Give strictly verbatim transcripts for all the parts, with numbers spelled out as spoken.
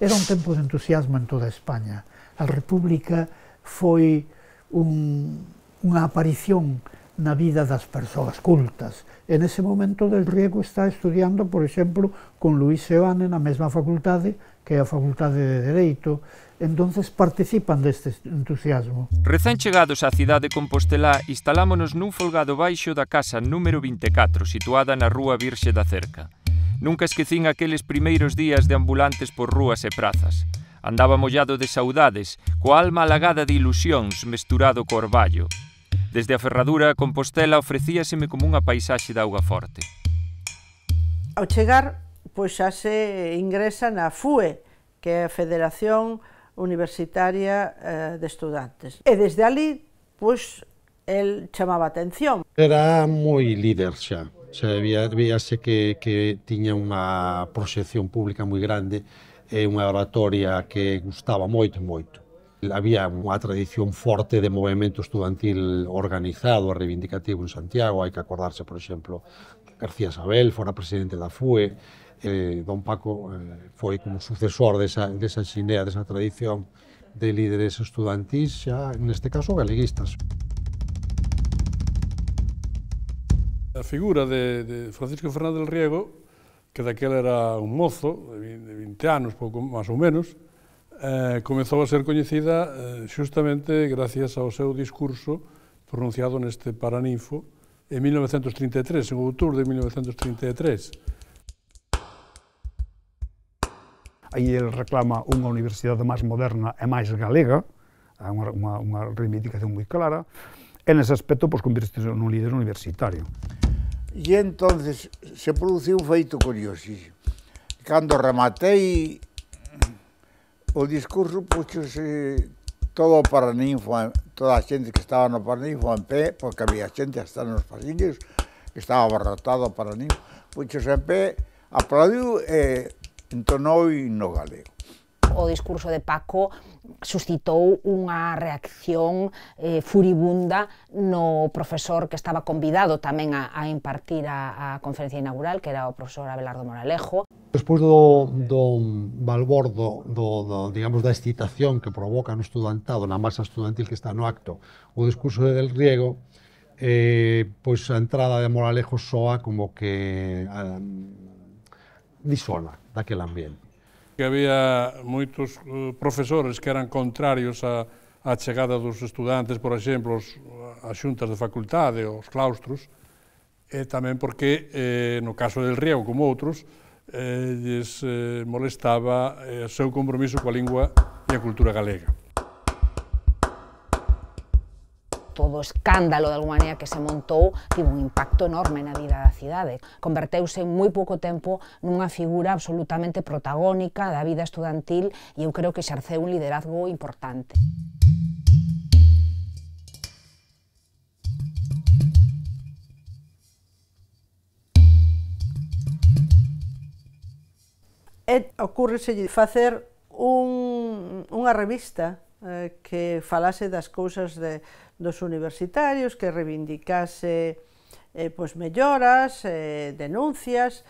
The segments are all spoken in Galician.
Era un tempo de entusiasmo en toda España. A República foi un, unha aparición na vida das persoas cultas. En ese momento Del Riego está estudiando, por exemplo, con Luis Seoane na mesma facultade, que é a Facultade de Dereito. Entonces participan deste entusiasmo. Recén chegados á cidade de Compostelá, instalámonos nun folgado baixo da casa número vinte e catro, situada na Rúa Virxe da Cerca. Nunca esquecín aqueles primeiros días de ambulantes por rúas e prazas. Andaba mollado de saudades, coa alma alagada de ilusións mesturado co orballo. Desde a ferradura a Compostela ofrecíaseme como unha paisaxe de auga forte. Ao chegar, pois xa se ingresa na F U E, que é a Federación Universitaria de Estudantes. E desde ali, pois, el chamaba a atención. Era moi líder xa. Xa víase que, que tiña unha proxección pública moi grande e unha oratoria que gustaba moito, moito. Había unha tradición forte de movimento estudantil organizado e reivindicativo en Santiago. Hai que acordarse, por exemplo, García Sabel fora presidente da F U E, eh, don Paco eh, foi como sucesor desa, desa xinea, desa tradición de líderes estudantís, xa neste caso galeguistas. A figura de, de Francisco Fernández del Riego, que daquela era un mozo de vinte anos, pouco máis ou menos, eh, comezou a ser coñecida eh, xustamente gracias ao seu discurso pronunciado neste Paraninfo en mil novecentos trinta e tres, en outubro de mil novecentos trinta e tres. Aí ele reclama unha universidade máis moderna e máis galega, unha, unha, unha reivindicación moi clara, e nese aspecto pois, convirtese nun líder universitario. E entonces se produciu un feito curiosísimo. Cando rematei o discurso, puxose todo o Paraninfo, toda a xente que estaba no Paraninfo en pé, porque había xente hasta nos pasillos, que estaba abarrotado o Paraninfo, puxose en pé, aplaudiu e entonou no galego. O discurso de Paco suscitou unha reacción eh, furibunda no profesor que estaba convidado tamén a, a impartir a, a conferencia inaugural, que era o profesor Abelardo Moralejo. Despois do, do balbordo, do, do, digamos, da excitación que provoca no estudantado, na masa estudantil que está no acto, o discurso de Del Riego, eh, pois a entrada de Moralejo soa como que eh, disona daquele ambiente. Que había moitos profesores que eran contrarios á, á chegada dos estudantes, por exemplo, as xuntas de facultade, os claustros, e tamén porque, eh, no caso del Riego, como outros, eh, lles eh, molestaba o eh, seu compromiso coa lingua e a cultura galega. Todo o escándalo, de alguma maneira, que se montou, tivo un impacto enorme na vida da cidade. Converteuse en moi pouco tempo nunha figura absolutamente protagónica da vida estudantil e eu creo que exerceu un liderazgo importante. E ocurreselle facer un, unha revista eh, que falase das cousas de dos universitarios, que reivindicase eh, pois, melloras, eh, denuncias.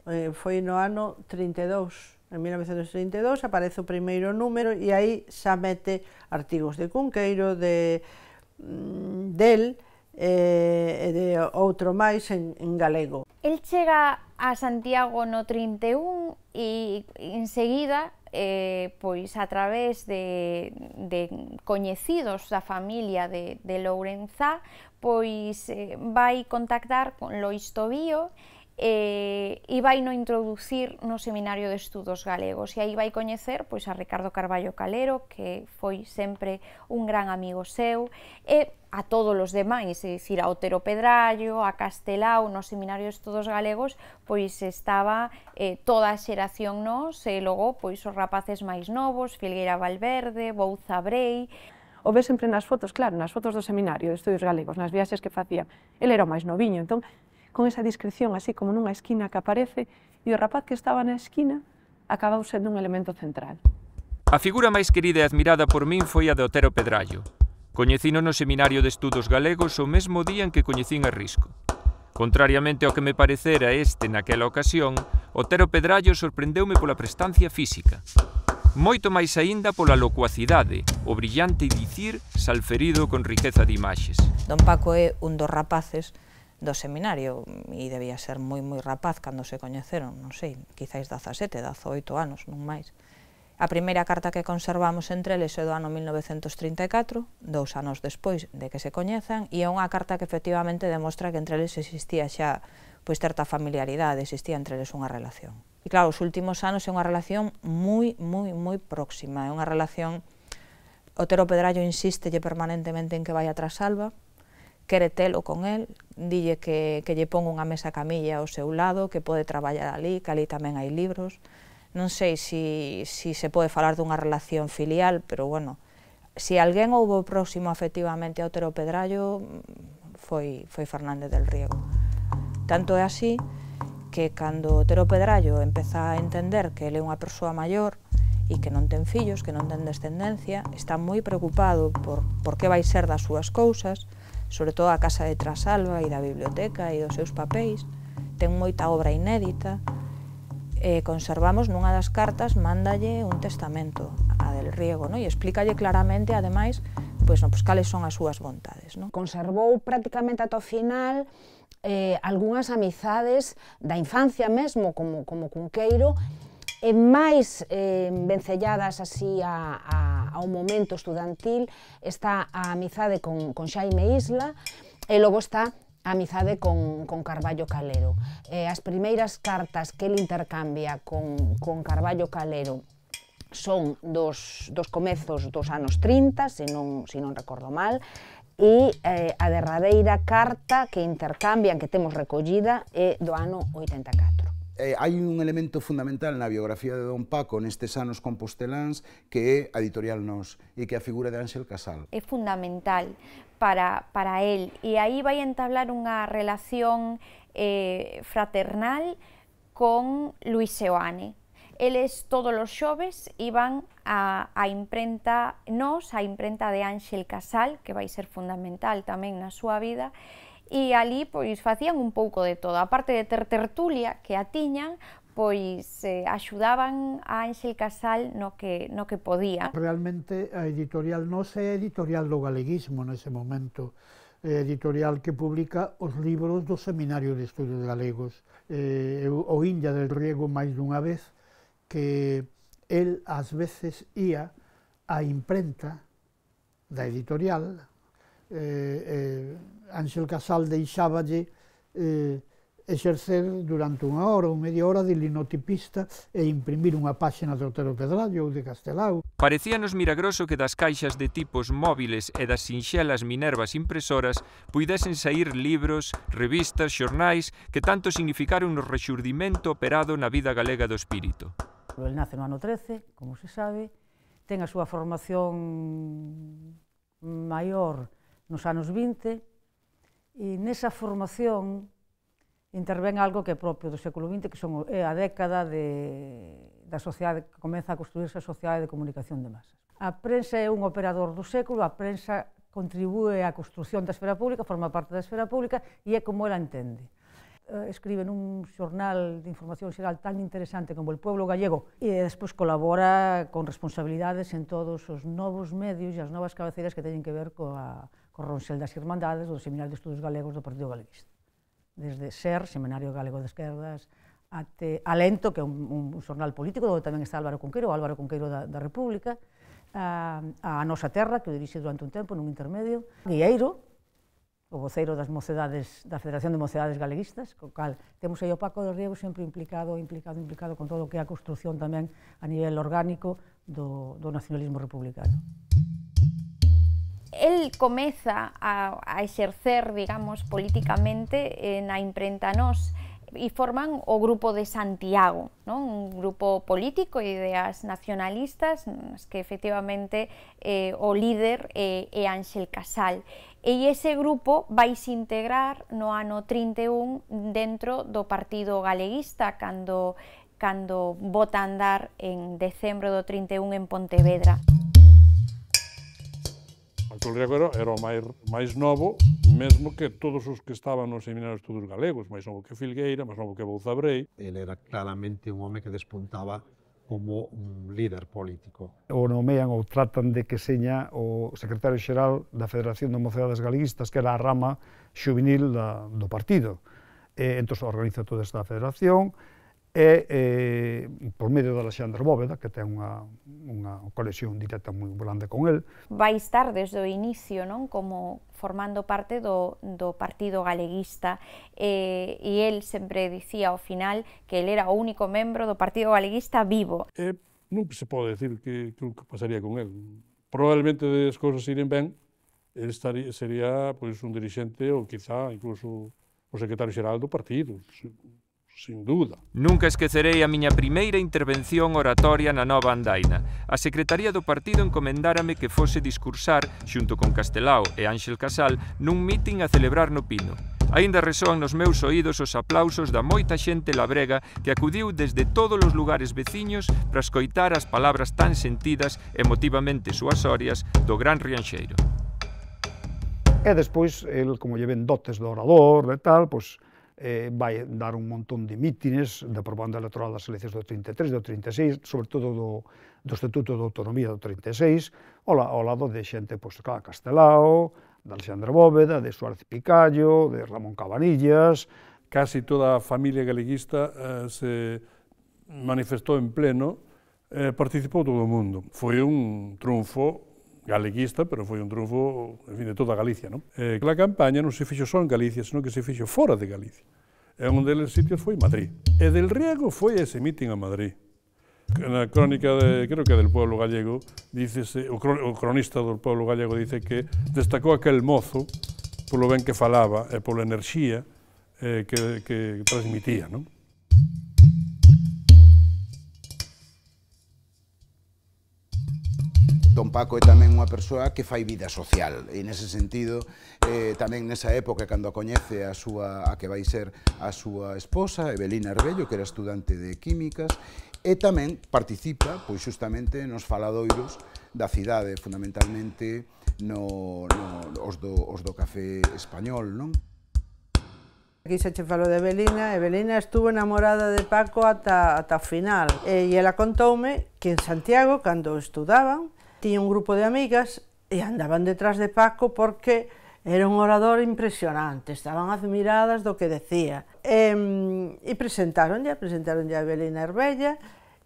Eh, foi no ano trinta e dous, en mil novecentos trinta e dous, aparece o primeiro número e aí xa mete artigos de Cunqueiro, de mm, del e eh, de outro máis en, en galego. El chega a Santiago no trinta e un e enseguida Eh, pois a través de, de coñecidos da familia de, de Lourenzá, pois eh, vai contactar con Lois Tobío eh, e vai no introducir no Seminario de Estudos Galegos, e aí vai coñecer pois a Ricardo Carballo Calero, que foi sempre un gran amigo seu, e a todos os demais, é dicir, a Otero Pedrallo, a Castelao, no Seminario de Estudos Galegos, pois estaba eh, toda a xeración nos, e logo pois os rapaces máis novos, Filgueira Valverde, Bouza Brei. O ve sempre nas fotos, claro, nas fotos do Seminario de Estudos Galegos, nas viaxes que facía. El era o máis noviño, entón, con esa discreción, así como nunha esquina que aparece, e o rapaz que estaba na esquina acabou sendo un elemento central. A figura máis querida e admirada por min foi a de Otero Pedrallo. Coñecino no Seminario de Estudos Galegos o mesmo día en que coñecín a Risco. Contrariamente ao que me parecera este naquela ocasión, Otero Pedrallo sorprendeume pola prestancia física. Moito máis aínda pola locuacidade, o brillante dicir salferido con riqueza de imaxes. Don Paco é un dos rapaces do seminario e debía ser moi moi rapaz cando se coñeceron, non sei, quizáis dezasete, dezoito anos, non máis. A primeira carta que conservamos entre eles é do ano mil novecentos trinta e catro, dous anos despois de que se coñezan, e é unha carta que efectivamente demostra que entre eles existía xa pois certa familiaridade, existía entre eles unha relación. E claro, os últimos anos é unha relación moi, moi, moi próxima, é unha relación... Otero Pedrallo insístelle permanentemente en que vai a Trasalba, quere telo con el, dille que, que lle pon unha mesa camilla ao seu lado, que pode traballar ali, que ali tamén hai libros. Non sei se si, si se pode falar dunha relación filial, pero bueno, se alguén houbo próximo afectivamente a Otero Pedrallo, foi, foi Fernández del Riego. Tanto é así que cando Otero Pedrallo empeza a entender que ele é unha persoa maior e que non ten fillos, que non ten descendencia, está moi preocupado por, por que vai ser das súas cousas, sobre todo a casa de Trasalba e da biblioteca e dos seus papéis, ten moita obra inédita, e conservamos nunha das cartas, mándalle un testamento a del Riego, no? E explícalle claramente, ademais, pois, no, pois, cales son as súas vontades. No? Conservou prácticamente ata o final eh, algunhas amizades da infancia mesmo, como, como Cunqueiro, e máis eh, vencelladas así a, a, ao momento estudantil, está a amizade con, con Xaime Isla, e logo está a amizade con, con Carballo Calero. Eh, as primeiras cartas que ele intercambia con, con Carballo Calero son dos, dos comezos dos anos trinta, se non, se non recordo mal, e eh, a derradeira carta que intercambian, que temos recollida, é do ano oitenta e catro. Eh, hai un elemento fundamental na biografía de Don Paco nestes anos composteláns que é a editorial Nós e que é a figura de Ánxel Casal. É fundamental para, para él e aí vai entablar unha relación eh, fraternal con Luis Seoane. Eles todos os xoves iban a, a imprenta Nós, a imprenta de Ánxel Casal, que vai ser fundamental tamén na súa vida, e ali pois facían un pouco de todo, aparte de ter tertulia que a tiñan, pois eh, axudaban a Ánxel Casal no que, no que podía. Realmente a editorial Nós é editorial do galeguismo nese momento, é editorial que publica os libros do Seminario de Estudios Galegos. Eh, o Illa del Riego máis dunha vez que el ás veces ía á imprenta da editorial, eh, eh, Ánxel Casal deixáballe eh, exercer durante unha hora ou media hora de linotipista e imprimir unha páxina de Otero Pedrallo ou de Castelao. Parecíanos milagroso que das caixas de tipos móviles e das sinxelas Minervas impresoras puidesen sair libros, revistas, xornais que tanto significaron no rexurdimento operado na vida galega do espírito. El nace no ano trece, como se sabe, ten a súa formación maior nos anos vinte, e nesa formación intervén algo que é propio do século vinte, que son, é a década de, da sociedade, que comeza a construirse a sociedade de comunicación de masas. A prensa é un operador do século, a prensa contribúe á construción da esfera pública, forma parte da esfera pública e é como ela entende. Escribe nun xornal de información xeral tan interesante como El Pueblo Gallego e despois colabora con responsabilidades en todos os novos medios e as novas cabeceiras que teñen que ver coa, co Ronxel das Irmandades do Seminario de Estudos Galegos do Partido Galeguista. Desde SER, Seminario Galego de Esquerdas, até Alento, que é un, un xornal político, onde tamén está Álvaro Cunqueiro, o Álvaro Cunqueiro da, da República, a, a Nosa Terra, que o dirixe durante un tempo nun intermedio, Guieiro, o voceiro das mocedades, da Federación de Mocedades Galeguistas, co cal temos aí o Paco del Riego sempre implicado, implicado, implicado con todo o que é a construción tamén a nivel orgánico do, do nacionalismo republicano. El comeza a, a exercer, digamos, políticamente eh, na imprenta Nós e forman o Grupo de Santiago, non? Un grupo político e ideas nacionalistas, que efectivamente eh, o líder é eh, Ánxel Casal. E ese grupo vai se integrar no ano trinta e un dentro do Partido Galeguista, cando, cando bota a andar en decembro do trinta e un en Pontevedra. Paco del Riego era o máis, máis novo, mesmo que todos os que estaban no Seminario de Estudos Galegos, máis novo que Filgueira, máis novo que Bouzabrei. Ele era claramente un home que despuntaba como un líder político. O nomean ou tratan de que seña o secretario xeral da Federación de Mocedades Galeguistas, que era a rama xuvenil da, do partido. E, entón, organiza toda esta federación, e, eh, por medio de Alexandre Bóveda, que ten unha, unha conexión directa moi grande con el. Vai estar desde o inicio, non? Como formando parte do, do Partido Galeguista, eh, e el sempre dicía ao final que el era o único membro do Partido Galeguista vivo. Eh, non se pode decir que, que, que pasaría con el. Probablemente as cousas iren ben, el estaría, sería pois, un dirixente ou quizá incluso o secretario xeral do partido, sin duda. Nunca esquecerei a miña primeira intervención oratoria na Nova Andaina. A Secretaría do Partido encomendárame que fose discursar, xunto con Castelao e Ánxel Casal, nun mitin a celebrar no Pino. Aínda resoan nos meus oídos os aplausos da moita xente labrega que acudiu desde todos os lugares veciños para escoitar as palabras tan sentidas, emotivamente suasorias, do gran Rianxeiro. E despois, el, como lle ven dotes do orador e tal, pois, eh, vai dar un montón de mítines da propaganda electoral das eleccións do trinta e tres, do trinta e seis, sobre todo do, do Estatuto de Autonomía do trinta e seis, ao, ao lado de xente, pois, claro, Castelao, de Alexandre Bóveda, de Suárez Picallo, de Ramón Cabanillas. Casi toda a familia galeguista eh, se manifestou en pleno, eh, participou todo o mundo. Foi un triunfo galeguista, pero foi un triunfo, en fin, de toda Galicia, non? Eh, a campaña non se fixo só en Galicia, senón que se fixo fora de Galicia. E un deles sitios foi Madrid. E del Riego foi ese mitin a Madrid. Na crónica, de, creo que del pueblo gallego, dícese, o, o cronista do pueblo gallego dice que destacou aquel mozo polo ben que falaba e pola enerxía eh, que, que transmitía, non? Don Paco é tamén unha persoa que fai vida social, e nese sentido, eh, tamén nesa época, cando a coñece a, súa, a que vai ser a súa esposa, Evelina Arbello, que era estudante de Químicas, e tamén participa, pois xustamente, nos faladoiros da cidade, fundamentalmente no, no, os, do, os do café español, non? Aquí se che falou de Evelina, Evelina estuvo enamorada de Paco ata, ata o final, e ela contoume que en Santiago, cando estudaban, tiña un grupo de amigas e andaban detrás de Paco porque era un orador impresionante, estaban admiradas do que decía. E, e presentaronlle, presentaronlle a Evelina Arbella,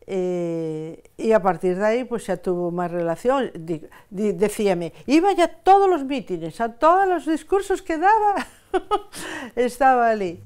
e, e a partir de aí pues, xa tuvo máis relación. Di, di, decíame, iba a todos os mítines, a todos os discursos que daba, estaba ali.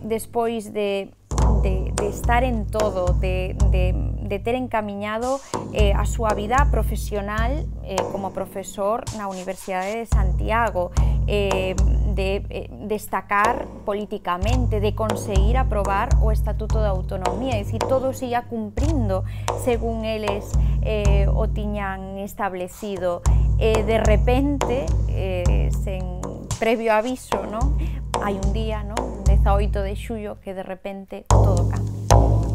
Despois de De, de estar en todo, de, de, de ter encamiñado eh, a súa vida profesional eh, como profesor na Universidade de Santiago, eh, de eh, destacar políticamente, de conseguir aprobar o Estatuto de Autonomía, é dicir, todo se ia cumprindo según eles eh, o tiñan establecido. E de repente, eh, sen previo aviso, non? Hai un día, non? dezaoito de xullo, que de repente todo cambia.